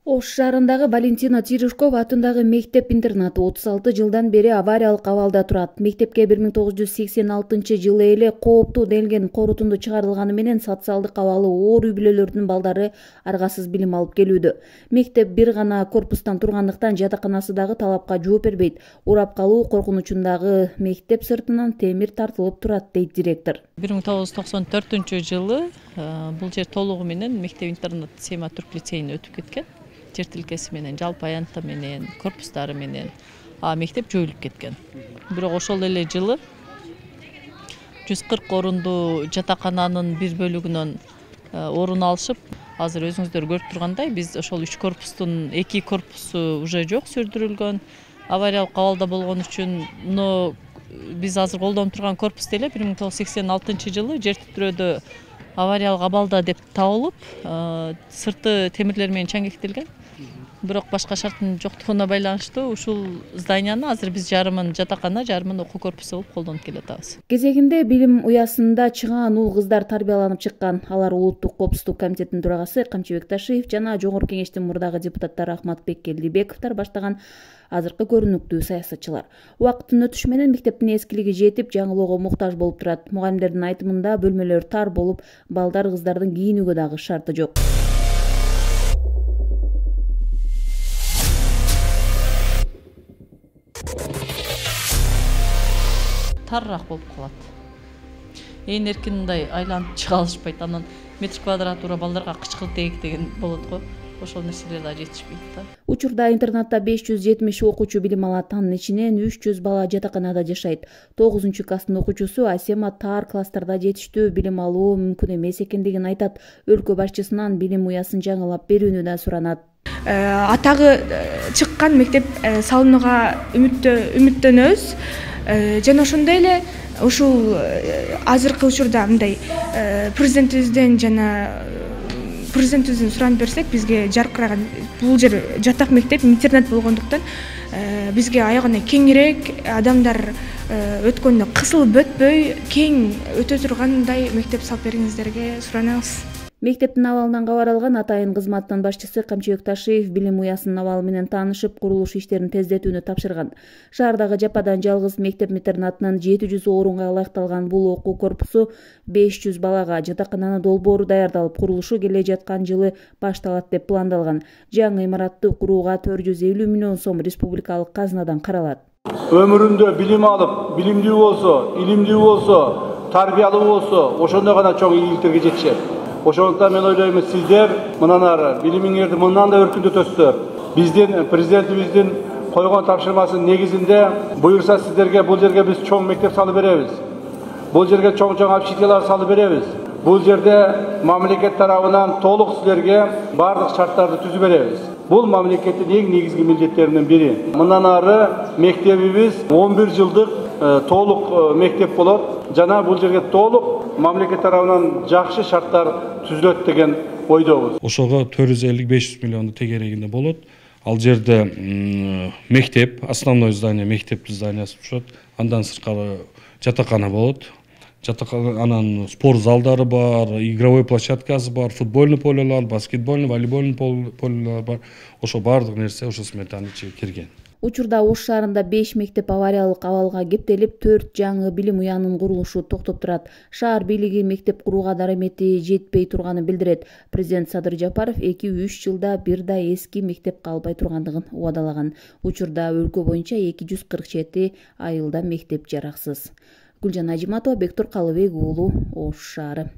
Ош шаарындагы Валентина Терешкова атындагы мектеп-интернат 36 жылдан бери авариялык абалда турат. Мектепке 1986 эле кооптуу делген корутунду чыгарылганы менен социалдык абалы оор үй-бүлөлөрдүн балдары аргасыз билим алып келүүдө. Мектеп бир гана корпустан тургандыктан жатаканасы дагы талапка жооп бербейт. Урап калуу коркунучундагы мектеп сыртынан темир тартылып турат, дейт директор. 1994 бул жер толугу менен мектеп-интернат Сема Түрк лицейине өтүп кеткен. Жер тилкеси менен, жалпы аянты менен, корпустары менен мектеп жоюлуп кеткен. Бирок ошол эле жылы 140 орундуу жатакананын бир бөлүгүнөн орун алышып, азыр өзүңүздөр көрүп тургандай, биз ошол 3 корпустун 2 корпусу уже жок, сүрдүрүлгөн. Авариялык абалда болгон үчүн, но биз азыр колдонуп турган корпус деле 1986 жылы жер титирөөдө авариялык абалда деп табылып, сырты темирлер менен чаңгектелген. Бирок башка шарттын жоктугуна байланыштуу ушул зданияны азыр биз жарымын жатакана, жарымын окуу корпусу болуп колдонуп келатабыз. Кезегинде билим уясында чыгаан уул кыздар тарбияланып чыккан. Алар Улуттук коопсуздук комитетинин төрагасы Камчыбек Ташиев жана Жогорку кеңештин мурдагы депутаттары Ахматбек Келдибековдор баштаган азыркы көрүнүктүү саясатчылар. Убакыттын өтүшү менен мектептин эскилиги жетип, жаңылоого муктаж болуп турат. Мугалимдердин айтымында бөлмөлөр тар болуп, балдар кыздардын кийинүүгө дагы шарты жок. Тарыраак болуп калат. Ээн эркин мындай айланып чыга алышпайт. Анан метр квадратура балдарга кычкылтек деген болот го. Ошол нерселер да жетишпейт да. Учурда интернатта 570 окуучу билим алат. Анын ичинен 300 бала жатаканада жашайт. 9-класстын окуучусу Асема таар класстарда жетиштүү билим алуу мүмкүн эмес экендигин айтат. Өлкө башчысынан билим уясын жаңылап берүүнү да суранат. Атагы чыккан мектеп салынууга үмүттөнөбүз. Жана ошондой эле ушул азыркы учурда мындай президентибизден суранып берсек, бизге жаркыраган бул жер жатак мектеп, интернат болгондуктан бизге аягына кеңирээк, адамдар өткөндө кысылып өтпөй, кең өтө тургандай мектеп салып бериңиздерге суранабыз. Мектептин абалынан кабар алган атайын кызматтын башчысы Камчыбек Ташиев билим уясынын абалы менен таанышып, курулуш иштерин тездетүүнү тапшырган. Шаардагы жападан жалгыз мектеп-интернатынын 700 орунга ылайыкталган бул окуу корпусу 500 балага жатакананы долбоору даярдалып, курулушу келе жаткан жылы башталат деп пландалган. Жаңы имаратты курууга 450 миллион сом республикалык казынадан каралат. Өмүрүндө билим алып, билимдүү болсо, илимдүү болсо, тарбиялуу болсо, ошондой гана чоң ийгиликтерге жетишет. Ошондуктан мен ойлойм, сиздер мындан ары билимиңерди мындан да өркүндөтөсүздөр. Биздин президентибиздин койгон тапшырмасынын негизинде буюрса сиздерге бул жерге биз чоң мектеп салып беребиз. Бул жерге чоң общежитиялар салып беребиз. Бул жерде мамлекет тарабынан толук сиздерге бардык шарттарды түзүп беребиз. Бул мамлекеттин эң негизги милдеттеринин бири. Мындан ары мектебибиз 11 жылдык толук мектеп болот. Жана бул жерге толук мамлекет тарабынан жакшы шарттар түзүлөт деген ойдобуз. Ошого 450-500 миллионду тегерегинде болот. Ал жерде мектеп, основной здание, мектептин зданиясы түшөт. Андан сырткары жатакана болот. Анан спорт залдары бар, игровой площадкасы бар, футбольный полелер, баскетбольный, волейбольный полелер бар. Ошо бардык нерсе ошо сметанын ичине кирген. Учурда Ош шаарында 5 мектеп авариялык абалга кептелип, 4 жаңы билим уянын курулушу токтоп турат. Шаар бийлиги мектеп курууга дарамети жетпей турганын билдирет. Президент Садыр Жапаров 2-3 жылда бир да эски мектеп калбай тургандыгын убадалаган. Учурда өлкө боюнча 247 айылда мектеп жараксыз. Гүлжан Ажиматова, Бектур Калыбек уулу, Ош шаары.